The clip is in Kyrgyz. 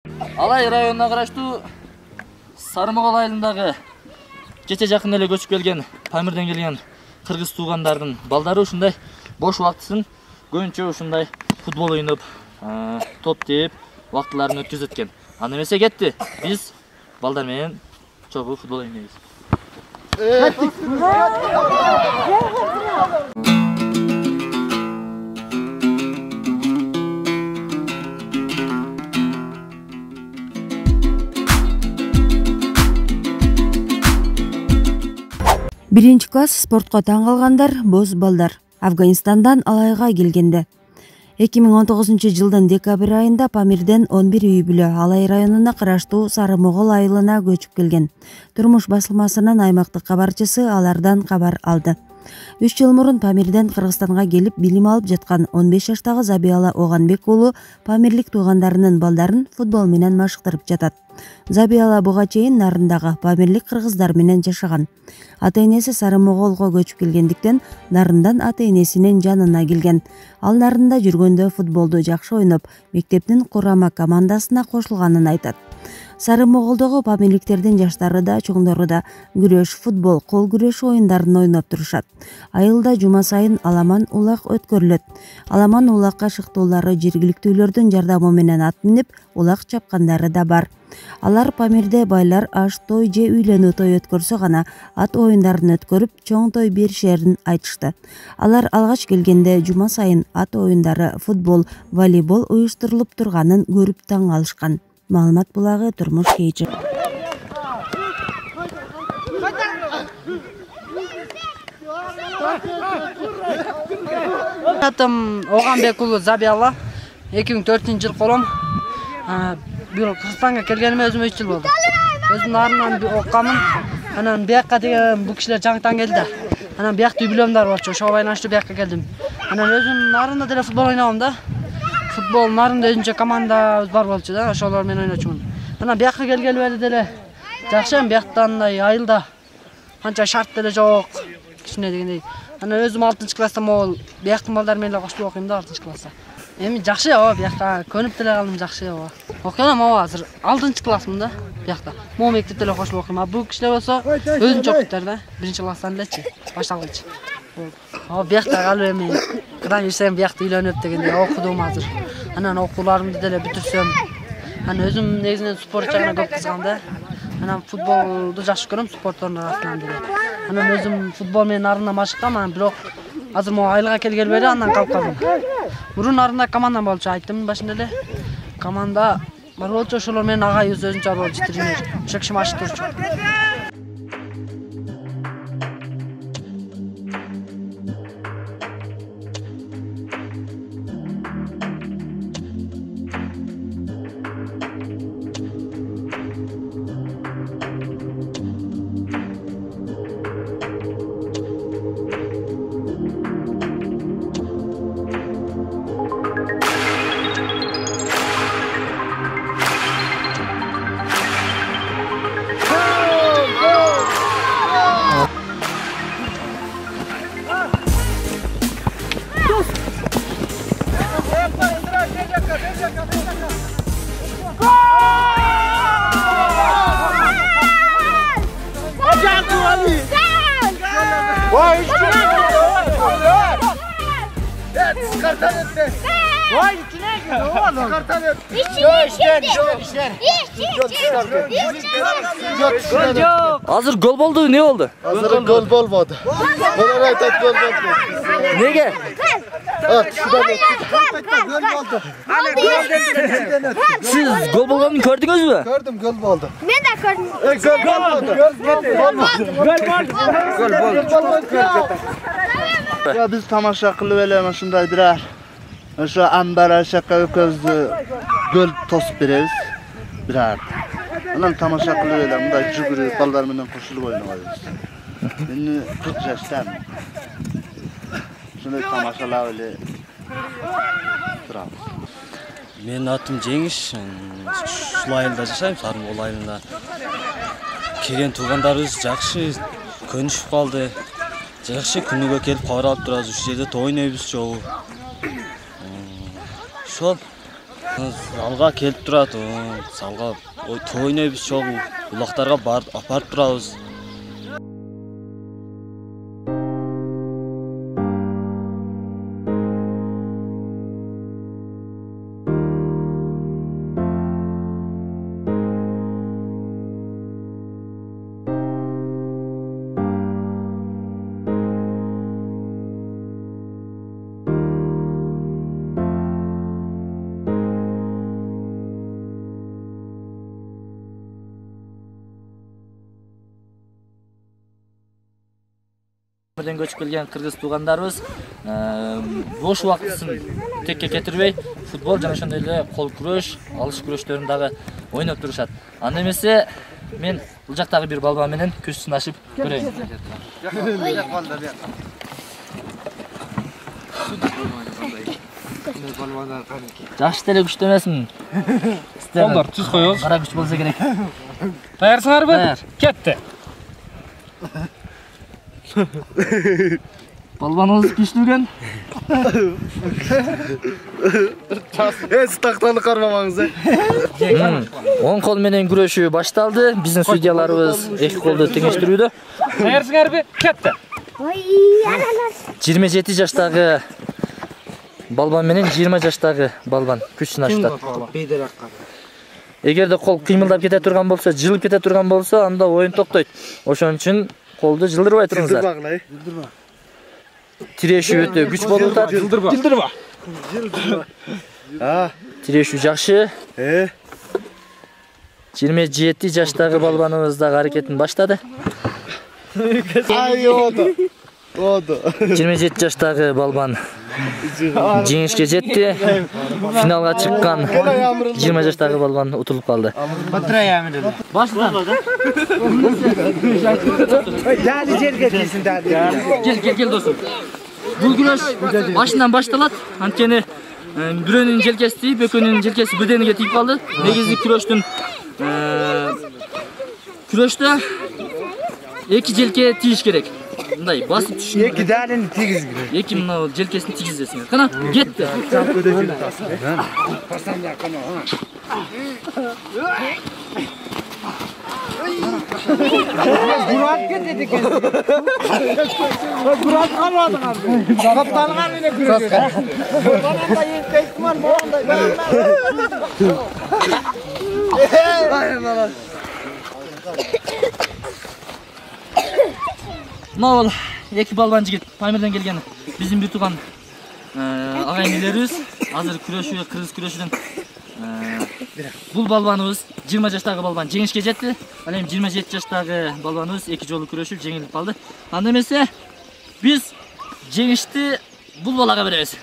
Алай районуна караштуу Сарымогол айылындагы кече жакын эле көчүп келген Памирден келген кыргыз туугандардын балдары ушундай бош убактысын көбүнчө ушундай футбол ойноп, топ тээп убактыларын өткөзөт экен. Аны эмесе кетти. Биз балдар менен чогуу футбол ойнойбуз. Биринчи класс спортко таң калгандар боз балдар Афганистандан Алайга келгенде. 2019 жылдын декабрь айында Памирден 11 үй бүлө Алай районуна караштуу Сарымогол айылына көчүп келген. Турмуш басылмасынын аймактык кабарчысы алардан кабар алды. 3 жыл мурун Памирден Кыргызстанга келип билим алып жаткан 15 жаштагы Забияла Оганбек уулу памирлик туугандарынын балдарын футбол менен машыктырып жатат. Забияла буга чейин Нарындагы памирлик кыргыздар менен жашаган. Ата-энеси Сарымоголго көчүп келгендиктен Нарындан ата-энесинин жанына келген. Ал Нарында жүргөндө футболду жакшы ойноп, мектептин курама командасына кошулганын айтат. Сарымоголдогу памирликтердин жаштары да, чоңдору да күрөш, футбол, кол күрөшү оюндарын ойноп турушат. Айылда жума сайын аламан улак өткөрүлөт. Аламан улакка шыктуулары жергиликтүүлөрдүн жардамы менен ат минип, улак чапкандары да бар. Алар Памирде байлар аш той же үйлөнүү той өткөрсө гана ат оюндарын өткөрүп, чоң той беришерин айтышты. Алар алгач келгенде жума сайын ат оюндары, футбол, волейбол уюштурулуп турганын көрүп таң калышкан. Маалымат булагы Турмуш Кейчи. Атым Оганбек уулу Забияла. 2004 жыл колом. Бул Кыргызстанга келгениме өзүм 3 жыл болду. Өзүм Нарынан оккамын. Анан бияка деген бул кишилер жаңыдан келди. Анан биякта үй бүлөм бар болчу. Ошого байланыштуу бияка келдим. Анан өзүм Нарында деле футбол ойногом да. Футбол Нарында өзүнчө командабыз бар болчу да, ошолор менен ойночумун. Анан бияка келгели бери деле жакшы, бияктандай айылда канча шарт деле жок. Кичине дегендей. Анан өзүм 6-класста могул бияктын балдары менен коштуп окуйм да 6-класста. Эми жакшы бияка көнүп деле калдым, жакшы окуйм. Азыр 6-классмын да биякта. Могу мектепте деле кошулуп окуйм. Бул кишилер болсо өзүнчө окуйттар да, 1-класстан элечи, башталгыч. Биякта калып эми кыдан жүрсөм биякта үйлөнүп дегендей окудум азыр. Анан окууларымды деле бүтүрсөм. Анан өзүм негизинен спорт жагына көп кызыгам да. Анан футболду жакшы көрөм, спорттун арасынан деле. Анан өзүм футбол менен Нарында машыккам, анан бирок азыр могу айылга келгели бери андан калып калдым. Мурун Нарында командам болчу, айттым башында эле. Команда бар болчу, ошолор менен агайыбыз өзүнчө болчу, тренер. Ошо киши машыктырчу. Азыр гол болду, эмне болду? Азыр гол болбоду. Булар айтат гол болду. Неге? Сиз гол болгонун көрдүңүзбү? Көрдүм, гол болду. Мен да көрдүм. Ya biz tamasha qilib elem shunday birar. O'sha ambara shaqqa ko'zni gol tosib beramiz. Birar. Anan tamasha qilib elem, bunday jugurib ballar bilan qo'shilib o'ynaymiz. Meni 40 yoshdaman. Shunday tamashalar ele turamiz. Менин атым Жеңиш, ушул айылда жашайм, Сарымогол айылында. Келген туугандарыбыз жакшы көнүшүп калды. Жакшы күнүгө келип кабар алып турабыз, ушул жерде той ойнойбуз чогуу. Ошол Залга келип турат. Залга тойнойбуз чогуу. Улактарга апарып турабыз. Памирден көчүп келген кыргыз туугандарыбыз бош убактысын текке кетирбей, футбол жана ошондой эле кол күрөш, алыш күрөштөрүн дагы ойноп турушат. Анда эмесе мен бул жактагы бир балбан менен күч сынашып көрөйүн. Жакшы деле күчтүү эмесмин. Колдор түз коебуз. Кара күч болсо керек. Даярсыңарбы? Даяр. Кетти. Балбаныбыз күчтүү экен. Тактаны кармамаңыз. Оң кол менен күрөшүү башталды. Биздин судьяларыбыз эки колду теңештирүүдө. Даярсыңарбы? Кетти. 27 жаштагы балбан менен 20 жаштагы балбан күч сынашат. Эгерде кол кыймылдап кете турган болсо, жылып кете турган болсо, анда оюн токтойт. Ошон үчүн колду жылдырбай туруңуздар. Тирешүү өтө күч болуп атат. Жылдырба. Тирешүү жакшы. 27 жаштагы балбаныбыз дагы аракетин баштады. 27 жаштагы балбан жеңишке жетти. Финалга чыккан 20 жаштагы балбан утулуп калды. Баштан. Кел досум. Бул күрөш башынан башталат. Анткени бирөөнүн желкеси тийип, экөөнүн желкеси бедениге тийип калды. Негизи күрөштө эки желке тийиш керек. Мындай басып түшүн. Эки далени тийгиз керек. Эки мына желкесин тийгизесиңер. Кана, кетти. Бурат кетти экен. Бурат калмадыңар. Капталган менен күрөшөт. Бана эстейсиңер, могундай. Мына эки балбан жигит Памирден келген биздин бир тууган агайын-энелерибиз. Азыр күрөшүү, кыргыз күрөшүдөн бул балбаныбыз 20 жаштагы балбан жеңишке жетти. Ал эми 27 жаштагы балбаныбыз эки жолу күрөшүп жеңилип калды. Анда эмесе биз жеңишти бул балага беребиз.